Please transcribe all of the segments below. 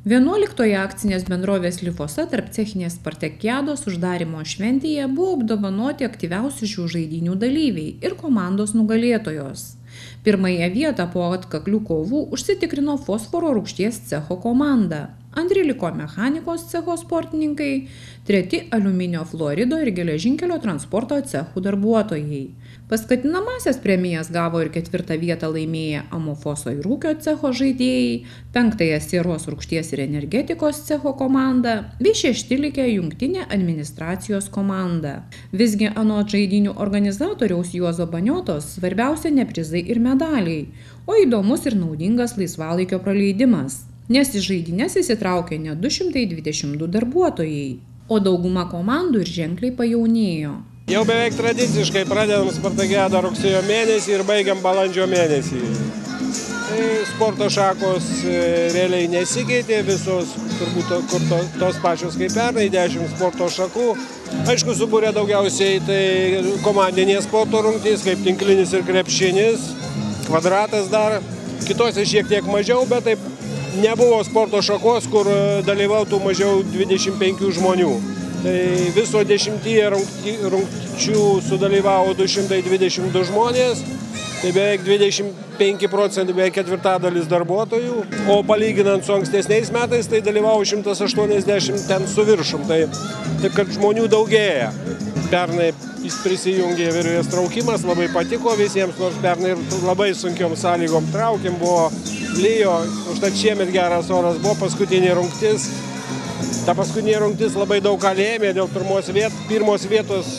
11 akcinės bendrovės Lifosa tarp cechinės spartakiados uždarymo šventėje buvo apdovanoti aktyviausi šių žaidynių dalyviai ir komandos nugalėtojos. Pirmąją vietą po atkaklių kovų užsitikrino fosforo rūgšties cecho komanda. Antri liko mechanikos cecho sportininkai, treti aliuminio fluorido ir geležinkelio transporto cechų darbuotojai. Paskatinamasias premijas gavo ir 4 vietą laimėję amofoso ir ūkio cecho žaidėjai, 5 sieros rūgšties ir energetikos cecho komanda, bei 6 likę jungtinė administracijos komanda. Visgi anot žaidynių organizatoriaus Juozo Baniotos svarbiausia ne prizai ir medaliai, o įdomus ir naudingas laisvalaikio praleidimas. Nes į žaidynes įsitraukė net 222 darbuotojai, o dauguma komandų ir ženkliai pajaunėjo. Jau beveik tradiciškai pradedam spartakiadą rugsėjo mėnesį ir baigiam balandžio mėnesį. Sporto šakos realiai nesikeitė, visos turbūt tos pačios kaip pernai, 10 sporto šakų. Aišku, subūrė daugiausiai tai komandinės sporto rungtys, kaip tinklinis ir krepšinis, kvadratas dar, kitose šiek tiek mažiau, bet taip nebuvo sporto šakos, kur dalyvautų mažiau 25 žmonių. Tai viso 10 rungčių sudalyvavo 222 žmonės, tai beveik 25%, beveik ketvirtadalis darbuotojų, o palyginant su ankstesniais metais, tai dalyvavo 180 ten su viršum, taip kad žmonių daugėja. Pernai prisijungė virvės traukimas, labai patiko visiems, nors pernai labai sunkiom sąlygom traukėm, buvo lyjo, užtat šiemet geras oras buvo, paskutinė rungtis. Ta paskutinė rungtis labai daug ką lėmė, dėl pirmos vietos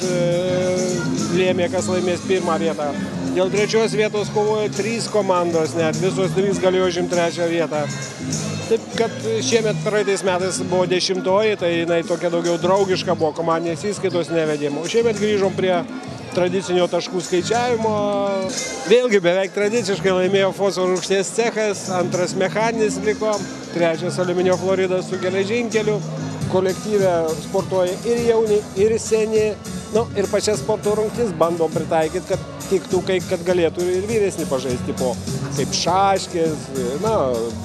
lėmė, kas laimės pirmą vietą. Dėl 3 vietos kovojo 3 komandos, net visos 3 galėjo užimti 3 vietą. Taip, kad šiemet praeitais metais buvo 10-oji, tai jinai tokia daugiau draugiška buvo, komandinės įskaitos nevedėm. O šiemet grįžom prie tradicinio taškų skaičiavimo. Vėlgi beveik tradiciškai laimėjo fosforo rūgšties cechas, 2 mechaninis liko, 3 aliuminio fluoridas su geležinkeliu. Kolektyve sportuoja ir jauni, ir seni. Ir pačias sporto rungtis bandom pritaikyti, kad tiktų, kad galėtų ir vyresni pažaisti kaip šaškės,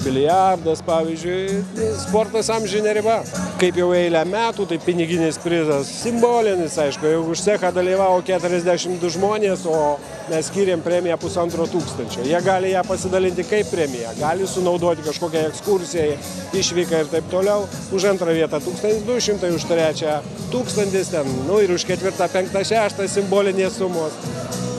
biliardas, pavyzdžiui. Sportas amžinė riba. Kaip jau eilę metų, tai piniginis prizas simbolinis, aišku, jau už cechą dalyvavo 42 žmonės, o mes skiriam premiją 1500. Jie gali ją pasidalinti kaip premiją, gali sunaudoti kažkokią ekskursiją, išvyką ir taip toliau. Už 2 vietą 1200, už 3 1000 ten, ir už 4, 5, 6 simbolinės sumos.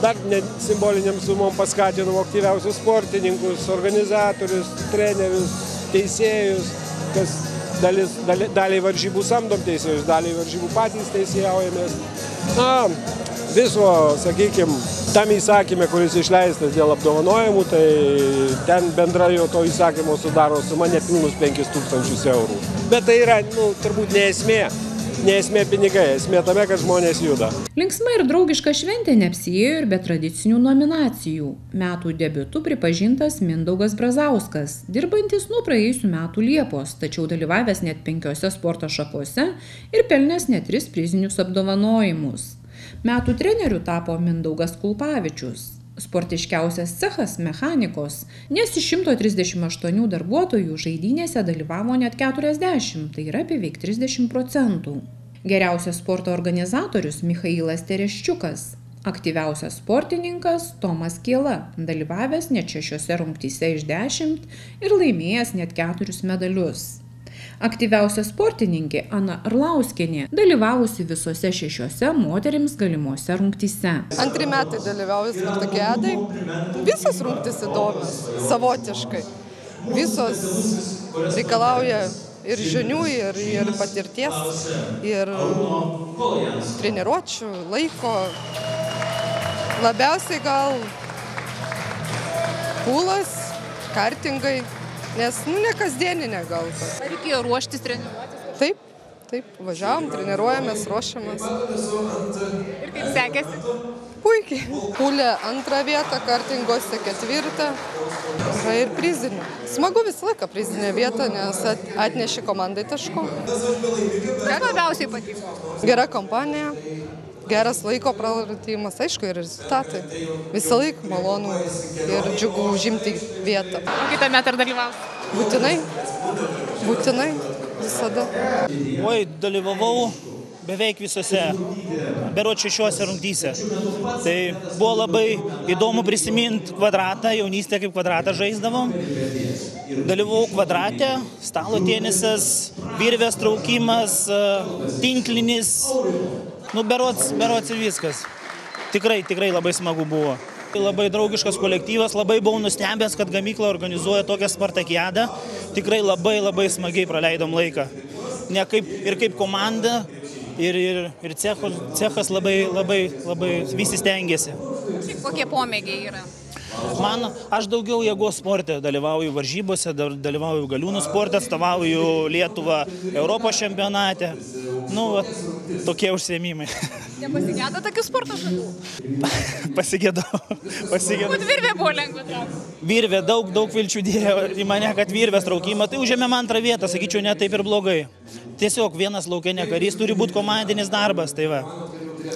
Dar simboliniam sumom paskatinom aktyviausius sportininkus, organizatorius, trenerius, teisėjus, kas daliai varžybų samdom teisėjus, daliai varžybų patys teisėjaujamės. Viso, sakykime, tam įsakymė, kuris išleistas dėl apdovanojimų, tai ten bendra jo to įsakymo sudaro suma nepilnus 5000 eurų. Bet tai yra, turbūt ne esmė pinigai, esmė tame, kad žmonės juda. Linksma ir draugiška šventė neapsiėjo ir be tradicinių nominacijų. Metų debiutu pripažintas Mindaugas Brazauskas, dirbantis nuo praėjusių metų Liepos, tačiau dalyvavęs net 5 sporto šakose ir pelnęs net 3 prizinius apdovanojimus. Metų treneriu tapo Mindaugas Kulpavičius. Sportiškiausias cechas mechanikos, nes iš 138 darbuotojų žaidynėse dalyvavo net 40, tai yra beveik 30%. Geriausias sporto organizatorius Michailas Tereščiukas, aktyviausias sportininkas Tomas Kiela, dalyvavęs net 6 rungtyse iš 10 ir laimėjęs net 4 medalius. Aktyviausia sportininkė Ana Arlauskienė, dalyvavusi visose 6 moterims galimose rungtyse. 2 metai dalyvauju spartakiadai. Visos rungtys įdomios, savotiškai. Visos reikalauja ir žinių, ir patirties, ir treniruočių, laiko. Labiausiai gal pūlas, kartingai. Nes, ne kasdieninė gal. Ar reikėjo ruoštis treniruotis? Taip, važiavom, treniruojamės, ruošiamės. Ir kaip sekėsi? Puikiai. Pūlė 2 vietą, kartingose 4. Ir prizinė. Smagu visą laiką prizinė vieta, nes atneši komandai taškų. Ką labiausiai patiko? Gera kompanija. Geras laiko praradimas, aišku, ir rezultatai. Visą laiką malonu ir džiugu užimti vietą. Kitą metą ar dalyvausi? Būtinai. Būtinai, visada. Oi, dalyvavau beveik visose, berods 6 rungtyse. Tai buvo labai įdomu prisiminti Kvadratą, jaunystę kaip Kvadratą žaisdavom. Dalyvavau Kvadrate, stalo tenisas, virvės traukimas, tinklinis, berods ir viskas. Tikrai labai smagu buvo. Labai draugiškas kolektyvas, labai buvau nustebęs, kad gamykla organizuoja tokią spartakiadą. Tikrai labai smagiai praleidom laiką. Ir kaip komanda, ir cechas labai visi stengiasi. Kokie pomėgiai yra? Aš daugiau jėgos sporte dalyvauju varžybose, dalyvauju galiūnų sporte, atstovauju Lietuvą Europos čempionate. Tokie užsiėmimai. Nepasigėdo tokių sporto šakų? Pasigėdau. Būt virvė buvo lengva traukti. Virvė, daug vilčių dėjo į mane, kad virvės traukimą. Tai užėmėm 2 vietą, sakyčiau, ne taip ir blogai. Tiesiog vienas lauke ne karys, turi būti komandinis darbas, tai va.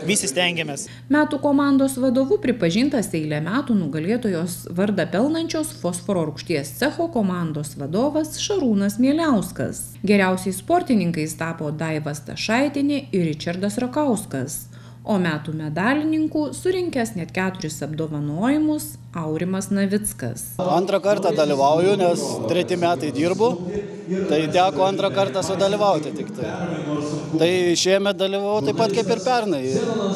Visi stengiamės. Metų komandos vadovu pripažintas eilę metų nugalėtojos vardą pelnančios fosforo rūgšties cecho komandos vadovas Šarūnas Mieliauskas. Geriausiais sportininkais tapo Daiva Stašaitinė ir Ričardas Rakauskas, o metų medalininkų surinkęs net 4 apdovanojimus Aurimas Navickas. 2 kartą dalyvauju, nes 3 metai dirbu, tai teko 2 kartą sudalyvauti tik tai. Tai šiemet dalyvau taip pat kaip ir pernai.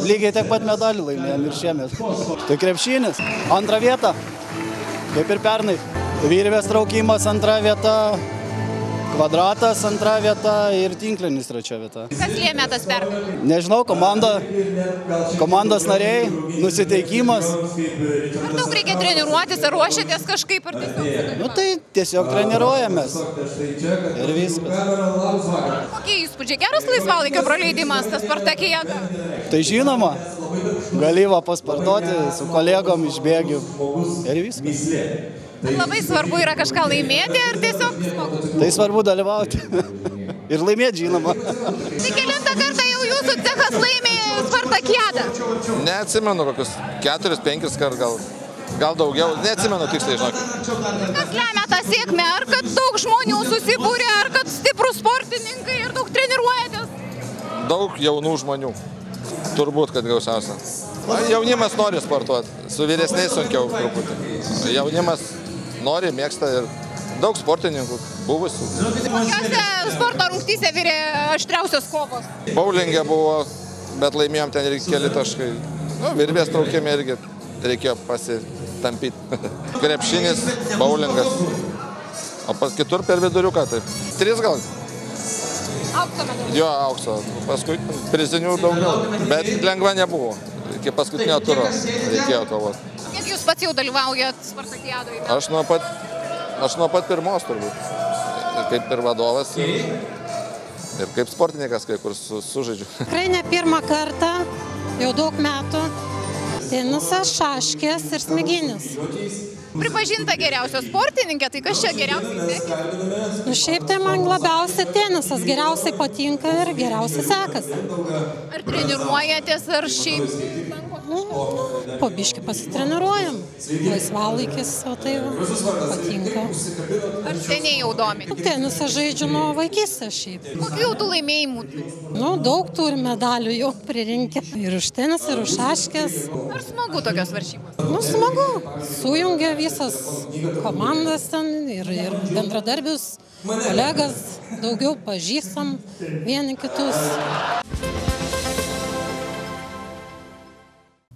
Lygiai tiek pat medalį laimėjom ir šiemet. Tai krepšinis, 2 vieta, kaip ir pernai. Virvės traukimas 2 vieta, Kvadratas 2 vieta ir tinklinis 3 vieta. Kas lėmė tas pergalę? Nežinau, komandos nariai, nusiteikimas. Ar daug reikia treniruotis, ar ruošiatės kažkaip, ar tiesiog? Tai tiesiog treniruojamės ir viskas. Kokie įspūdžiai? Geras laisvalaikio praleidimas, tas spartakiada? Tai žinoma, gali pasportuoti su kolegom išbėgiu ir viskas. Ar labai svarbu yra kažką laimėti, ar tiesiog smagu? Tai svarbu dalyvauti ir laimėti, žinoma. Tai kelintą kartą jau jūsų cechas laimė spartakiadą? Neatsimenu, kokius 4-5 kart, gal daugiau, neatsimenu tiksliai, žinokit. Kas lemia tą sėkmę? Ar kad daug žmonių susibūrė, ar kad stiprus sportininkai ir daug treniruojatės? Daug jaunų žmonių, turbūt, kad gausiausia. Jaunimas nori sportuoti, su vyresniais sunkiau truputį. Jaunimas nori, mėgsta ir daug sportininkų buvusių. Kokiose sporto rungtyse virė aštriausios kovos? Bowlingė buvo, bet laimėjom ten ir keli taškai. Virvės traukėme irgi reikėjo pasitampyti. Krepšinis, bowlingas, o kitur per viduriuką taip. 3 gal. Aukso medalių? Jo, aukso. Paskui prizinių daugiau, bet lengva nebuvo. Iki paskutinio turo reikėjo kovoti. Kiek jūs pats jau dalyvaujat spartakiadoje? Aš nuo pat pirmos turbūt. Kaip ir vadovas ir kaip sportininkas, kai kur sužaidžiu. Tikrai ne 1 kartą, jau daug metų. Tenisas, šaškės ir smeginis. Pripažinta geriausia sportininkė, tai kas čia geriausiai sekėsi? Šiaip tai man labiausiai tenisas geriausiai patinka ir geriausiai sekasi. Ar treniruojatės, ar šiaip? Po biškį pasitreniruojam. Laisvalaikis, o tai patinka. Ar seniai jau domite? Tenisą žaidžiu nuo vaikystės šiaip. Kokių jau tų laimėjimų? Daug turi medalių jau pririnkę. Ir už tenisą, ir už šaškės. Ar smagu tokios varžybos? Smagu. Sujungia visas komandas ten ir bendradarbius, kolegas, daugiau pažįstam vieni kitus.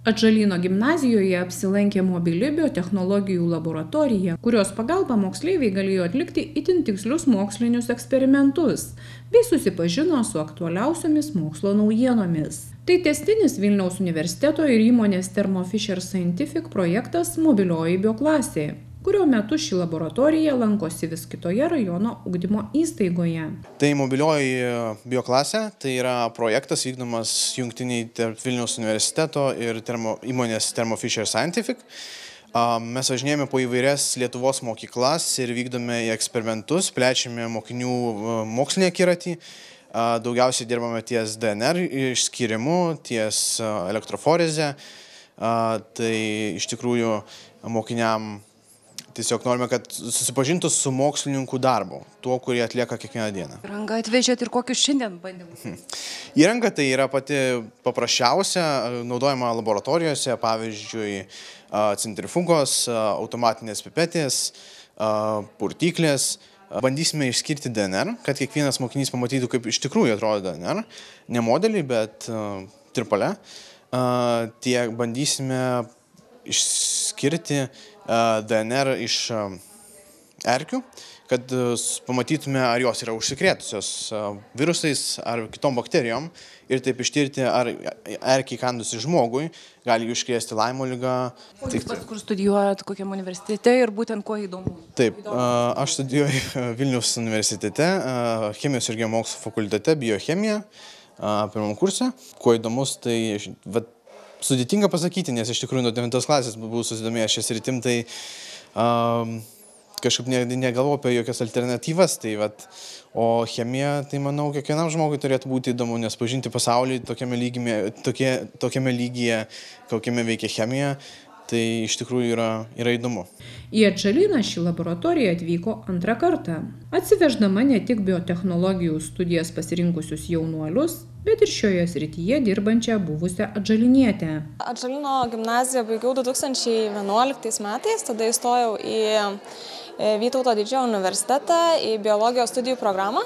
Atžalyno gimnazijoje apsilankė mobili biotechnologijų laboratorija, kurios pagalba moksleiviai galėjo atlikti itin tikslius mokslinius eksperimentus bei susipažino su aktualiausiomis mokslo naujienomis. Tai tęstinis Vilniaus universiteto ir įmonės Thermo Fisher Scientific projektas Mobilioji bioklasė, kurio metu ši laboratorija lankosi vis kitoje rajono ugdymo įstaigoje. Tai mobilioji bioklasė, tai yra projektas vykdomas jungtiniai tarp Vilniaus universiteto ir įmonės Thermo Fisher Scientific. Mes važinėjame po įvairias Lietuvos mokyklas ir vykdome eksperimentus, plečiame mokinių mokslinį akiratį. Daugiausiai dirbame ties DNR išskyrimu, ties elektroforeze. Tai iš tikrųjų mokiniam tiesiog norime, kad susipažintų su mokslininkų darbu, tuo, kurį atlieka kiekvieną dieną. Įrangą atvežėt ir kokius šiandien bandymus? Įranga tai yra pati paprasčiausia, naudojama laboratorijose, pavyzdžiui, centrifugos, automatinės pipetės, purtyklės. Bandysime išskirti DNR, kad kiekvienas mokinys pamatytų, kaip iš tikrųjų atrodo DNR, ne modeliai, bet tirpale. Tiek bandysime išskirti DNR iš erkių, kad pamatytume, ar jos yra užsikrėtusios virusais ar kitom bakterijom ir taip ištirti, ar erkiai įkandusi žmogui gali užkrėsti Laimo ligą. Jūs pats kur studijuojat, kokiam universitete ir būtent kuo įdomu? Taip, aš studijuoju Vilniaus universitete, chemijos ir geomokslų fakultete, biochemija, pirmam kurse. Kuo įdomus, tai sudėtinga pasakyti, nes iš tikrųjų nuo 9 klasės buvau susidomėjęs šią sritim, tai kažkaip negalvoju apie jokias alternatyvas, o chemija, tai manau, kiekvienam žmogui turėtų būti įdomu, nes pažinti pasaulį tokiame lygyje, kokiame veikia chemija, tai iš tikrųjų yra įdomu. Į Atžalyną ši laboratorija atvyko antrą kartą, atsiveždama ne tik biotechnologijų studijas pasirinkusius jaunuolius, bet ir šioje srityje dirbančią buvusią atžalinietę. Atžalyno gimnaziją baigiau 2011 metais, tada įstojau į Vytauto Didžiojo universitetą, į biologijos studijų programą.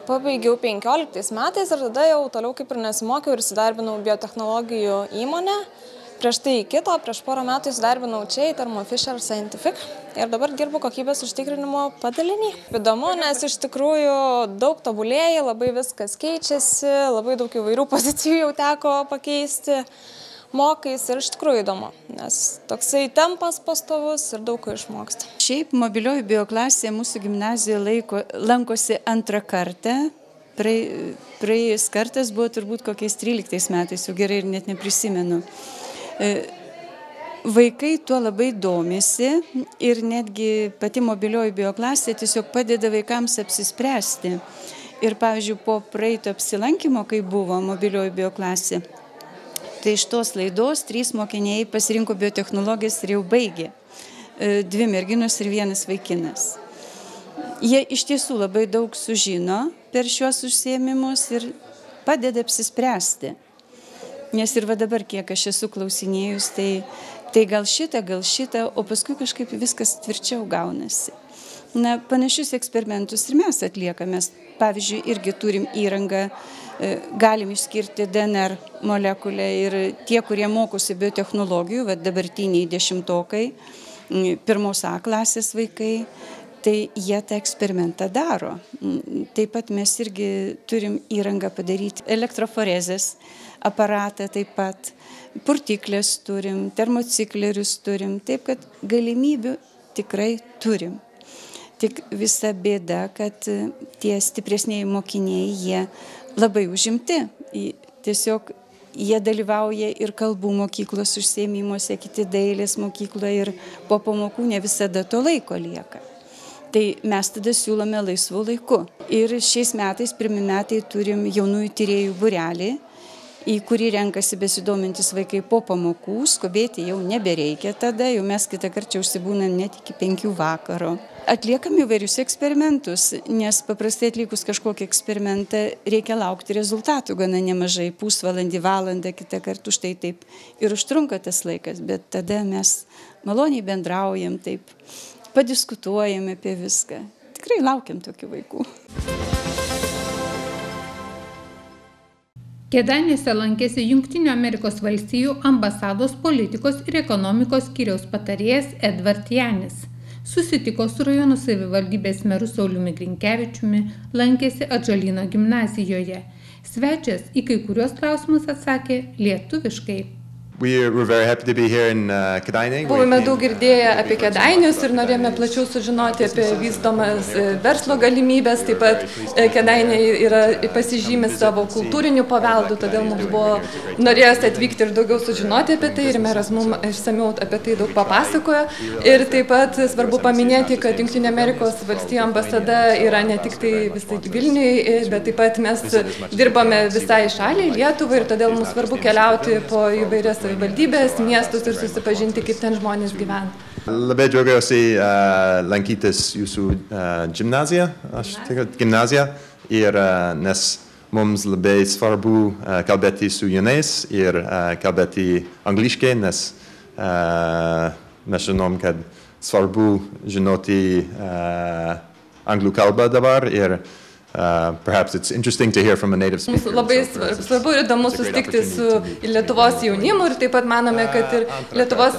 Pabaigiau 15 metais ir tada jau toliau kaip ir nesimokiau ir įsidarbinau biotechnologijų įmonę. Prieš tai prieš porą metų įsidarbinau čia į Thermo Fisher Scientific ir dabar dirbu kokybės užtikrinimo padalinį. Įdomu, nes iš tikrųjų daug tobulėja, labai viskas keičiasi, labai daug įvairių pozicijų jau teko pakeisti, mokais ir iš tikrųjų įdomu, nes toksai tempas pastovus ir daug ko išmoksti. Šiaip mobilioji bioklasė mūsų gimnazijoje lankosi antrą kartą. Praėjus kartas buvo turbūt kokiais 13 metais, jau gerai ir net neprisimenu. Vaikai tuo labai domisi ir netgi pati mobilioji bioklasė tiesiog padeda vaikams apsispręsti. Ir pavyzdžiui, po praeito apsilankymo, kai buvo mobilioji bioklasė, tai iš tos laidos 3 mokiniai pasirinko biotechnologijas ir jau baigė. 2 merginos ir 1 vaikinas. Jie iš tiesų labai daug sužino per šiuos užsiėmimus ir padeda apsispręsti. Nes ir va dabar, kiek aš esu klausinėjus, tai gal šitą, o paskui kažkaip viskas tvirčiau gaunasi. Panašius eksperimentus ir mes atliekame. Pavyzdžiui, irgi turim įrangą, galim išskirti DNR molekulę ir tie, kurie mokosi biotechnologijų, dabartiniai 10-okai, 1A klasės vaikai, tai jie tą eksperimentą daro. Taip pat mes irgi turim įrangą padaryti elektroforezės aparatą, taip pat purtyklės turim, termociklerius turim, taip kad galimybių tikrai turim. Tik visa bėda, kad tie stipresniai mokiniai, jie labai užimti. Tiesiog jie dalyvauja ir kalbų mokyklos užsiėmimuose, kiti dailės mokykloje ir po pamokų ne visada to laiko lieka. Tai mes tada siūlome laisvų laiku. Ir šiais metais, pirmi metai, turim jaunųjų tyrėjų būrelį, į kurį renkasi besidomintis vaikai po pamokų, skubėti jau nebereikia tada, jau mes kitą kartą užsibūnam net iki 5 vakaro. Atliekam įvairius eksperimentus, nes paprastai atlikus kažkokį eksperimentą reikia laukti rezultatų gana nemažai, pusvalandį, valandą, kitą kartą už tai taip ir užtrunka tas laikas, bet tada mes maloniai bendraujam, taip padiskutuojam apie viską. Tikrai laukiam tokių vaikų. Kėdainiuose lankėsi Jungtinių Amerikos valstijų ambasados politikos ir ekonomikos skyriaus patarėjas Edvard Janis. Susitiko su rajono savivaldybės meru Sauliumi Grinkevičiumi, lankėsi Atžalyno gimnazijoje. Svečias į kai kuriuos klausimus atsakė lietuviškai. Buvome daug girdėję apie Kėdainius ir norėjome plačiau sužinoti apie vystomas verslo galimybės. Taip pat Kėdainiai pasižymi savo kultūriniu paveldu, todėl mums buvo norėjęs atvykti ir daugiau sužinoti apie tai ir meras mums išsamiau apie tai daug papasakojo. Ir taip pat svarbu paminėti, kad Jungtinių Amerikos valstijų ambasada yra ne tik tai visai Vilniui, bet taip pat mes dirbame visai šaliai, Lietuvai, ir todėl mums svarbu keliauti po įvairias savivaldybės, miestus ir susipažinti, kaip ten žmonės gyvena. Labai džiaugiuosi lankytis jūsų gimnaziją, ir nes mums labai svarbu kalbėti su jaunais ir kalbėti angliškai, nes mes žinom, kad svarbu žinoti anglų kalbą dabar ir perhaps it's interesting to hear from a native speaker. Mums labai svarbu ir įdomu susitikti su Lietuvos jaunimu ir taip pat manome, kad ir Lietuvos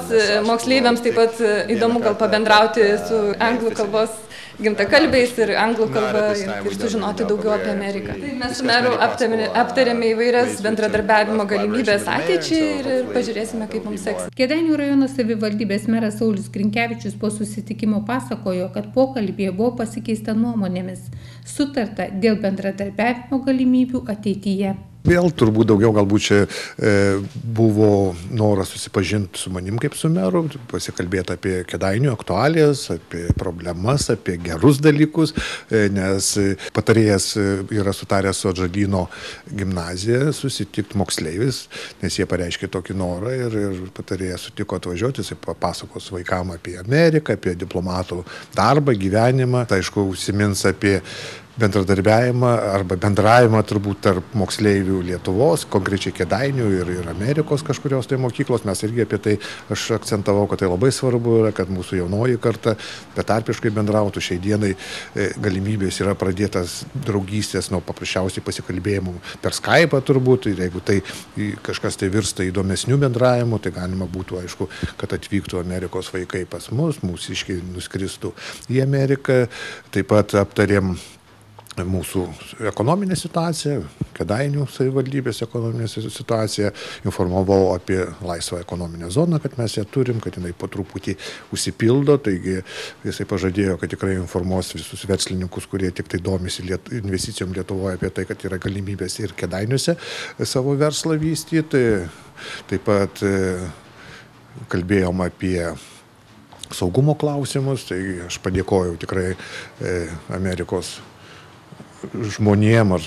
moksleiviams taip pat įdomu gal pabendrauti su anglų kalbos gimtakalbiais ir anglų kalba ir sužinoti daugiau apie Ameriką. Tai mes su meru aptarėme įvairias bendradarbiavimo galimybės ateičiai ir pažiūrėsime, kaip mums seksis. Kėdainių rajono savivaldybės meras Saulius Grinkevičius po susitikimo pasakojo, kad pokalbyje buvo pasikeista nuomonėmis, sutarta dėl bendradarbiavimo galimybių ateityje. Vėl turbūt daugiau galbūt čia buvo noras susipažinti su manim kaip su meru, pasikalbėti apie Kėdainių aktualijas, apie problemas, apie gerus dalykus, nes patarėjas yra sutaręs su Atžalyno gimnazija susitikti moksleivis, nes jie pareiškė tokį norą ir patarėjas sutiko atvažiuoti, jis papasakos vaikam apie Ameriką, apie diplomatų darbą, gyvenimą, tai aišku, užsimins apie bendradarbiavimą arba bendravimą turbūt tarp moksleivių Lietuvos, konkrečiai Kėdainių ir Amerikos kažkurios tai mokyklos. Mes irgi apie tai aš akcentavau, kad tai labai svarbu yra, kad mūsų jaunoji karta betarpiškai bendrautų. Šiai dienai galimybės yra pradėtas draugystės nuo paprasčiausiai pasikalbėjimų per Skype'ą turbūt. Ir jeigu tai kažkas tai virsta įdomesnių bendravimų, tai galima būtų, aišku, kad atvyktų Amerikos vaikai pas mus, mūsiškiai nuskristų į Ameriką. Taip pat aptarėm mūsų ekonominė situacija, Kėdainių savivaldybės ekonominė situacija, informavau apie laisvą ekonominę zoną, kad mes ją turim, kad jinai po truputį užsipildo, taigi jisai pažadėjo, kad tikrai informuos visus verslininkus, kurie tik tai domisi investicijom Lietuvoje apie tai, kad yra galimybės ir Kėdainiuose savo verslą vystyti. Taip pat kalbėjom apie saugumo klausimus, tai aš padėkojau tikrai Amerikos žmonėm, ar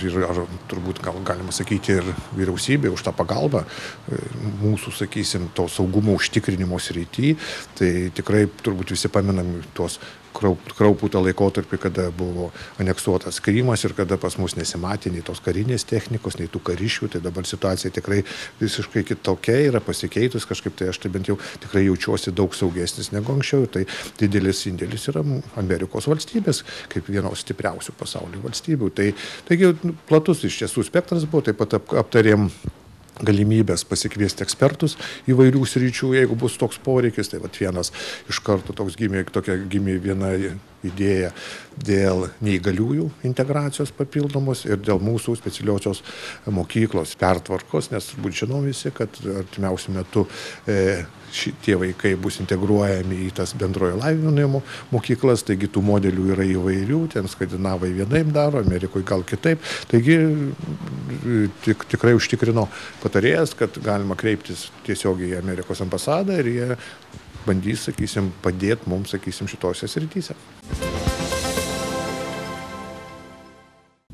turbūt galima sakyti ir vyriausybė už tą pagalbą mūsų, sakysim, to saugumo užtikrinimo srity. Tai tikrai turbūt visi paminam tuos kraupų tą laikotarpį, kada buvo aneksuotas Krymas ir kada pas mus nesimatė nei tos karinės technikos, nei tų kariškių. Tai dabar situacija tikrai visiškai kitokia yra pasikeitus kažkaip, tai aš tai bent jau tikrai jaučiuosi daug saugesnis negu anksčiau. Tai didelis indėlis yra Amerikos valstybės, kaip vienos stipriausių pasaulio valstybių. Taigi platus iš tiesų spektras buvo, taip pat aptarėm galimybės pasikviesti ekspertus įvairių sričių, jeigu bus toks poreikis. Tai vienas iš karto gimė viena idėja dėl neįgaliųjų integracijos papildomos ir dėl mūsų specialiosios mokyklos pertvarkos, nes turbūt žinom visi, kad artimiausiu metu šitie vaikai bus integruojami į tas bendrojo lavinimo mokyklas, taigi tų modelių yra įvairių, ten skandinavai vienaip daro, Amerikoje gal kitaip. Taigi tikrai užtikrino patarėjas, kad galima kreiptis tiesiogiai į Amerikos ambasadą ir jie bandys, sakysim, padėti mums, sakysim, šitose srityse.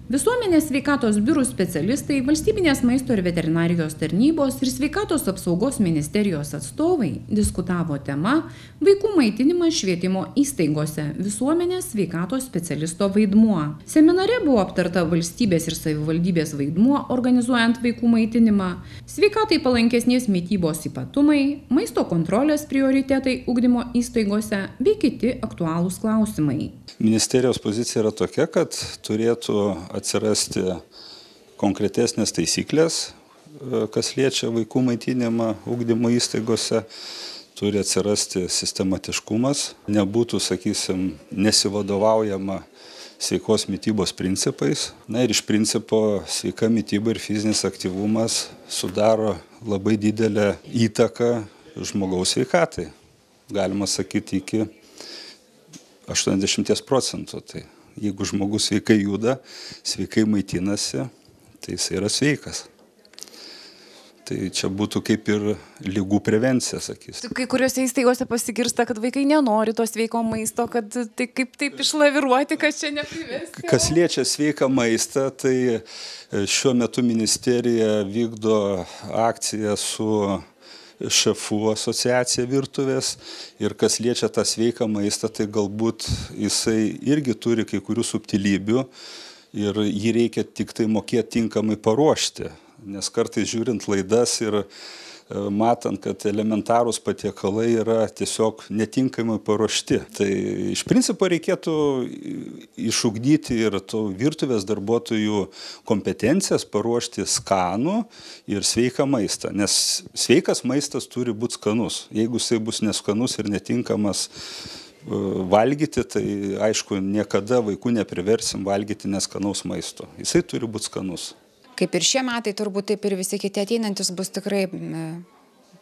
Visuomenės sveikatos biurų specialistai, Valstybinės maisto ir veterinarijos tarnybos ir Sveikatos apsaugos ministerijos atstovai diskutavo tema Vaikų maitinimas švietimo įstaigose – visuomenės sveikatos specialisto vaidmuo. Seminare buvo aptarta valstybės ir savivaldybės vaidmuo organizuojant vaikų maitinimą, sveikatai palankesnės mitybos ypatumai, maisto kontrolės prioritetai ugdymo įstaigose bei kiti aktualūs klausimai. Ministerijos pozicija yra tokia, kad turėtų atsirasti konkretesnės taisyklės, kas liečia vaikų maitinimą ugdymo įstaigose, turi atsirasti sistematiškumas, nebūtų, sakysim, nesivadovaujama sveikos mitybos principais. Na ir iš principo sveika mityba ir fizinis aktyvumas sudaro labai didelę įtaką žmogaus sveikatai. Galima sakyti iki 80%. Tai jeigu žmogus sveikai juda, sveikai maitinasi, tai jis yra sveikas. Tai čia būtų kaip ir ligų prevencija, sakysim. Kai kuriuose įstaigose pasigirsta, kad vaikai nenori to sveiko maisto, kad tai kaip taip išlaviruoti, kad čia neprivesti. Kas liečia sveiką maistą, tai šiuo metu ministerija vykdo akciją su šefų asociacija virtuvės ir kas liečia tą sveiką maistą, tai galbūt jisai irgi turi kai kurių subtilybių ir jį reikia tik tai mokėti tinkamai paruošti, nes kartais žiūrint laidas ir matant, kad elementarūs patiekalai yra tiesiog netinkamai paruošti. Tai iš principo reikėtų išugdyti ir to virtuvės darbuotojų kompetencijas paruošti skanų ir sveiką maistą, nes sveikas maistas turi būti skanus. Jeigu jisai bus neskanus ir netinkamas valgyti, tai aišku, niekada vaikų nepriversim valgyti neskanaus maisto. Jisai turi būti skanus. Kaip ir šie metai, turbūt taip ir visi kiti ateinantis bus tikrai,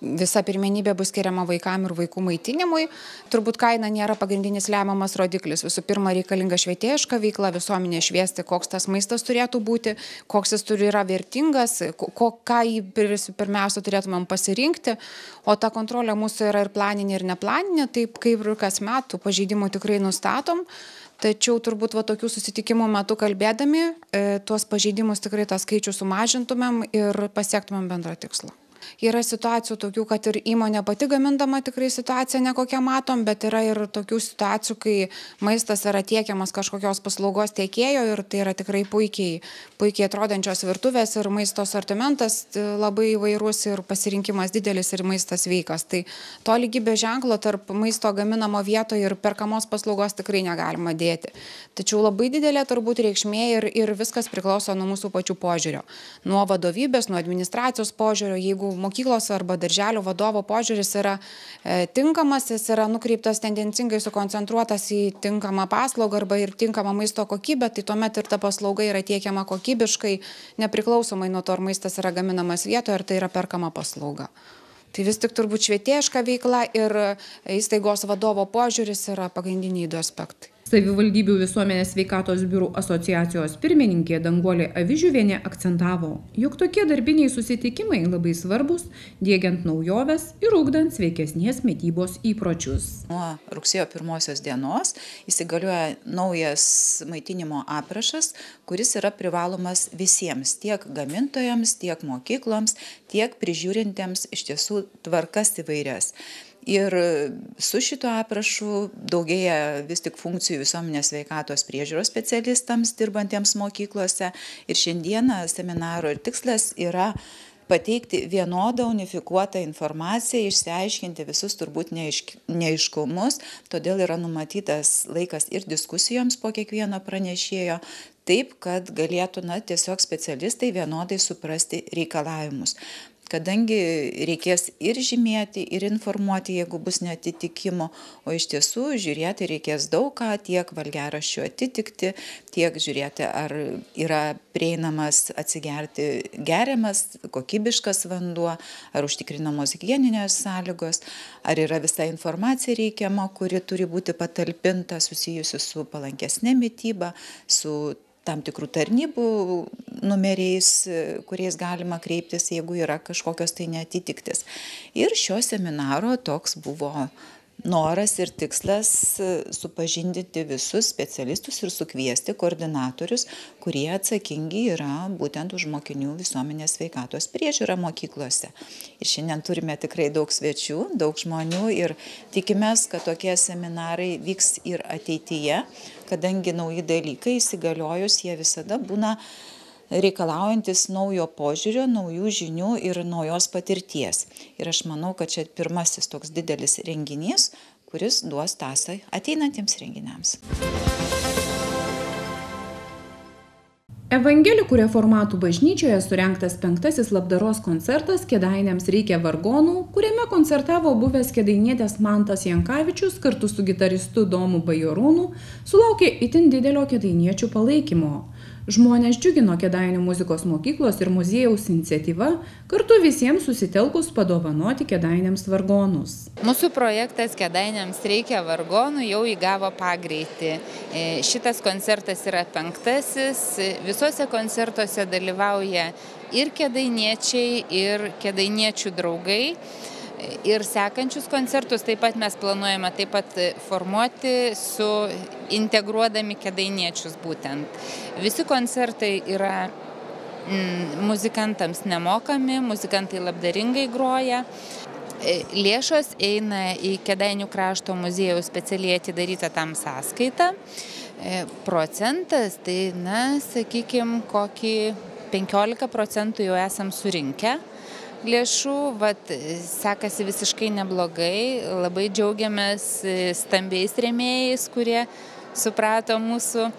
visa pirmenybė bus skiriama vaikam ir vaikų maitinimui. Turbūt kaina nėra pagrindinis lemiamas rodiklis. Visų pirma, reikalinga švietėjiška veikla, visuomenė šviesti, koks tas maistas turėtų būti, koks jis yra vertingas, ką jį pirmiausia turėtumėm pasirinkti. O ta kontrolė mūsų yra ir planinė, ir neplaninė, taip kaip ir kas metų pažeidimų tikrai nustatom. Tačiau turbūt tokių susitikimų metu kalbėdami, tuos pažeidimus tikrai tą skaičių sumažintumėm ir pasiektumėm bendrą tikslą. Yra situacijų tokių, kad ir įmonė pati gamindama tikrai situaciją nekokią matom, bet yra ir tokių situacijų, kai maistas yra tiekiamas kažkokios paslaugos tiekėjo ir tai yra tikrai puikiai atrodančios virtuvės ir maisto asortimentas labai įvairus ir pasirinkimas didelis ir maistas sveikas. Tai to lygybės ženklo tarp maisto gaminamo vietoje ir perkamos paslaugos tikrai negalima dėti. Tačiau labai didelė turbūt reikšmė ir viskas priklauso nuo mūsų pačių požiūrio. Nuo vadovybės, nuo administracijos požiūrio, jeigu mokyklos arba darželio vadovo požiūris yra tinkamas, jis yra nukreiptas tendencingai sukoncentruotas į tinkamą paslaugą arba ir tinkamą maisto kokybę, tai tuomet ir ta paslauga yra tiekiama kokybiškai, nepriklausomai nuo to, ar maistas yra gaminamas vietoje, ar tai yra perkama paslauga. Tai vis tik turbūt švietėjiška veikla ir įstaigos vadovo požiūris yra pagrindiniai du aspektai. Savivaldybių visuomenės sveikatos biurų asociacijos pirmininkė Danguolė Avižiuvienė akcentavo, jog tokie darbiniai susitikimai labai svarbus, diegiant naujoves ir ugdant sveikesnės mitybos įpročius. Nuo rugsėjo 1 dienos įsigalioja naujas maitinimo aprašas, kuris yra privalomas visiems, tiek gamintojams, tiek mokykloms, tiek prižiūrintiems iš tiesų tvarkas įvairias. Ir su šito aprašu daugėja vis tik funkcijų visuomenės sveikatos priežiūros specialistams dirbantiems mokyklose. Ir šiandieną seminaro tikslas yra pateikti vienodą unifikuotą informaciją, išsiaiškinti visus turbūt neaiškumus, todėl yra numatytas laikas ir diskusijoms po kiekvieno pranešėjo, taip, kad galėtų tiesiog specialistai vienodai suprasti reikalavimus. Kadangi reikės ir žymėti, ir informuoti, jeigu bus neatitikimo, o iš tiesų žiūrėti reikės daug ką, tiek valgiaraščių atitikti, tiek žiūrėti, ar yra prieinamas atsigerti geriamas, kokybiškas vanduo, ar užtikrinamos higieninės sąlygos, ar yra visa informacija reikiama, kuri turi būti patalpinta susijusi su palankesnė mityba, su tam tikrų tarnybų numeriais, kuriais galima kreiptis, jeigu yra kažkokios tai neatitiktis. Ir šio seminaro toks buvo noras ir tikslas supažindinti visus specialistus ir sukviesti koordinatorius, kurie atsakingi yra būtent už mokinių visuomenės sveikatos priežiūrą mokyklose. Ir šiandien turime tikrai daug svečių, daug žmonių ir tikimės, kad tokie seminarai vyks ir ateityje, kadangi nauji dalykai įsigaliojus, jie visada būna reikalaujantis naujo požiūrio, naujų žinių ir naujos patirties. Ir aš manau, kad čia pirmasis toks didelis renginys, kuris duos tąsą ateinantiems renginiams. Evangelikų reformatų bažnyčioje surengtas 5. labdaros koncertas Kėdainiams reikia vargonų, kuriame koncertavo buvęs kėdainietės Mantas Jankavičius kartu su gitaristu Domu Bajorūnu, sulaukė itin didelio kėdainiečių palaikymo. Žmonės džiugino Kėdainių muzikos mokyklos ir muziejaus iniciatyva, kartu visiems susitelkus padovanoti Kėdainiams vargonus. Mūsų projektas Kėdainiams reikia vargonų jau įgavo pagreitį. Šitas koncertas yra 5. Visuose koncertuose dalyvauja ir kėdainiečiai, ir kėdainiečių draugai. Ir sekančius koncertus taip pat mes planuojame taip pat formuoti su integruodami kėdainiečius būtent. Visi koncertai yra muzikantams nemokami, muzikantai labdaringai groja. Lėšos eina į Kėdainių krašto muziejaus specialiai atidarytą tam sąskaitą. Procentas, tai, sakykime, kokį 15% jau esam surinkę lėšų, sekasi visiškai neblogai, labai džiaugiamės stambiais rėmėjais, kurie suprato mūsų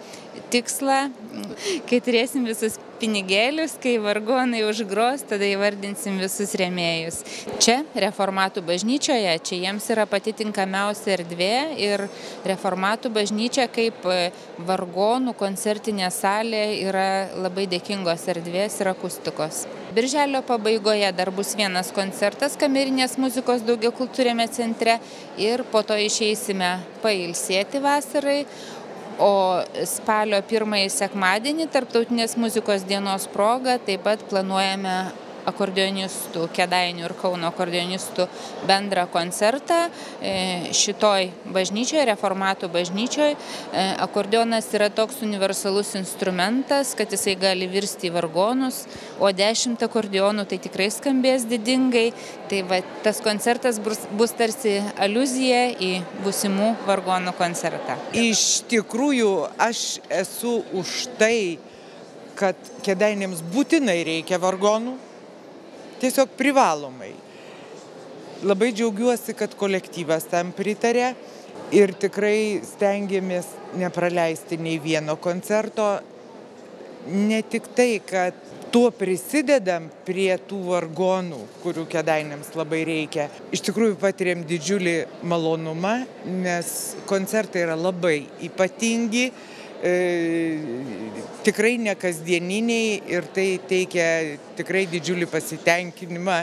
tikslą, kai turėsim visus pinigėlius, kai vargonai užgros, tada įvardinsim visus rėmėjus. Čia, Reformatų bažnyčioje, čia jiems yra pati tinkamiausia erdvė ir Reformatų bažnyčia kaip vargonų koncertinė salė yra labai dėkingos erdvės ir akustikos. Birželio pabaigoje dar bus vienas koncertas kamerinės muzikos daugiakultūriame centre ir po to išeisime pailsėti vasarai. O spalio 1 sekmadienį Tarptautinės muzikos dienos proga taip pat planuojame akordeonistų, Kėdainių ir Kauno akordeonistų bendrą koncertą. Šitoj bažnyčioje, Reformatų bažnyčioje, akordeonas yra toks universalus instrumentas, kad jisai gali virsti į vargonus, o 10 akordeonų tai tikrai skambės didingai. Tai tas koncertas bus tarsi aliuzija į būsimų vargonų koncertą. Iš tikrųjų, aš esu už tai, kad Kėdainiams būtinai reikia vargonų. Tiesiog privalomai. Labai džiaugiuosi, kad kolektyvas tam pritarė ir tikrai stengiamės nepraleisti nei vieno koncerto. Ne tik tai, kad tuo prisidedam prie tų vargonų, kurių Kėdainiams labai reikia. Iš tikrųjų patiriam didžiulį malonumą, nes koncertai yra labai ypatingi, tikrai nekasdieniniai ir tai teikia tikrai didžiulį pasitenkinimą,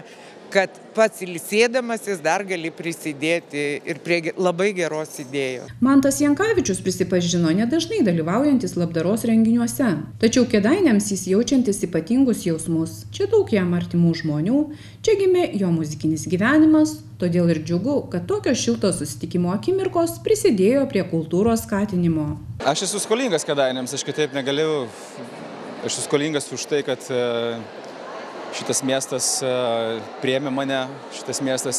kad pats ilsėdamas jis dar gali prisidėti ir prie labai geros idėjos. Mantas Jankavičius prisipažino nedažnai dalyvaujantis labdaros renginiuose, tačiau Kėdainiams jis jaučiantis ypatingus jausmus. Čia daug jam artimų žmonių, čia gimė jo muzikinis gyvenimas, todėl ir džiugu, kad tokios šiltos susitikimo akimirkos prisidėjo prie kultūros skatinimo. Aš esu skolingas Kėdainiams, aš kitaip negaliu. Aš esu skolingas už tai, kad šitas miestas priėmė mane, šitas miestas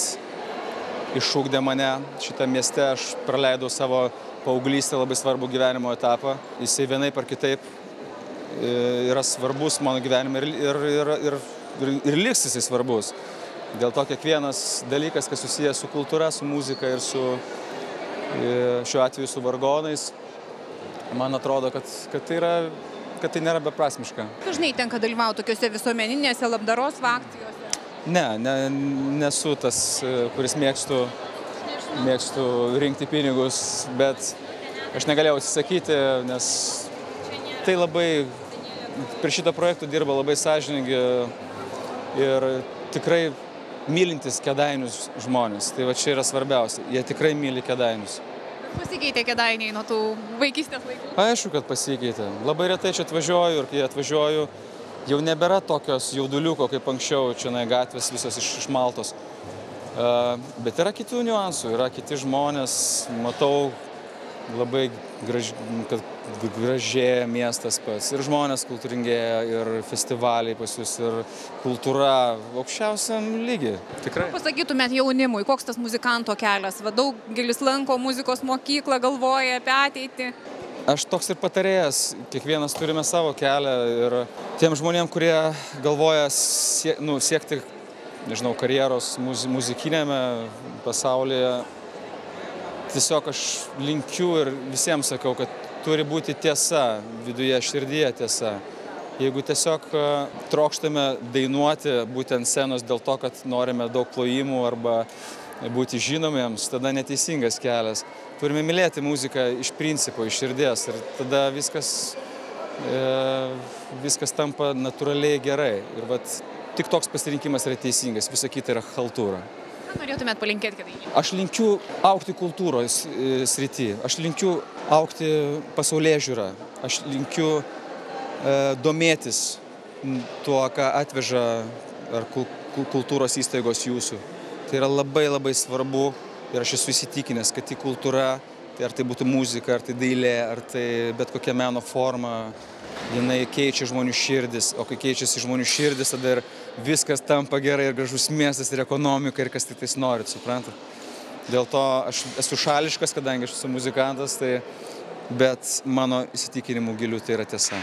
išugdė mane. Šitą mieste aš praleidau savo paauglystę labai svarbų gyvenimo etapą. Jisai vienaip ar kitaip yra svarbus mano gyvenime ir liks jisai svarbus. Dėl to kiekvienas dalykas, kas susijęs su kultūra, su muzika ir šiuo atveju su vargonais, man atrodo, kad tai nėra beprasmiška. Dažnai tenka dalyvauti tokiuose visuomeninėse labdaros akcijose? Nesu tas, kuris mėgstu rinkti pinigus, bet aš negalėjau atsisakyti, nes tai labai, prie šitą projektą dirba labai sąžiningi ir tikrai mylintis Kėdainius žmonės. Tai va čia yra svarbiausia, jie tikrai myli Kėdainius. Pasikeitė Kėdainiai nuo tų vaikystės laikų? Aišku, kad pasikeitė. Labai retai čia atvažiuoju ir kai atvažiuoju, jau nebėra tokios jauduliuko kaip anksčiau, čia gatvės visos išmaltos. Bet yra kitų niuansų, yra kiti žmonės, matau labai gražėja miestas pats. Ir žmonės kultūringėja, ir festivaliai pas jūs, ir kultūra aukščiausiam lygiai. Tikrai. Pasakytumėt jaunimui, koks tas muzikanto kelias? Daugelis lanko muzikos mokyklą, galvoja apie ateitį. Aš toks ir patarėjas. Kiekvienas turime savo kelią. Ir tiem žmonėm, kurie galvoja siekti, karjeros muzikinėme pasaulyje, tiesiog aš linkiu ir visiems sakau, kad turi būti tiesa, viduje, širdyje tiesa. Jeigu tiesiog trokštame dainuoti būtent scenos dėl to, kad norime daug plojimų arba būti žinomiems, tada neteisingas kelias. Turime mylėti muziką iš principo, iš širdies ir tada viskas tampa natūraliai gerai. Ir tik toks pasirinkimas yra teisingas, visa kita yra chaltūra. Ką norėtumėt palinkėti Kėdainiams? Aš linkiu augti kultūros srity, aš linkiu augti pasaulyježiūrą, aš linkiu domėtis tuo, ką atveža ar kultūros įstaigos jūsų. Tai yra labai labai svarbu ir aš esu įsitikinęs, kad tai kultūra, ar tai būtų muzika, ar tai dailė, ar tai bet kokia meno forma, jinai keičia žmonių širdis, o kai keičiasi žmonių širdis, tada ir viskas tampa gerai, ir gražus miestas, ir ekonomika, ir kas tik tais norit, suprantat. Dėl to aš esu šališkas, kadangi aš esu muzikantas, bet mano įsitikinimų gilių tai yra tiesa.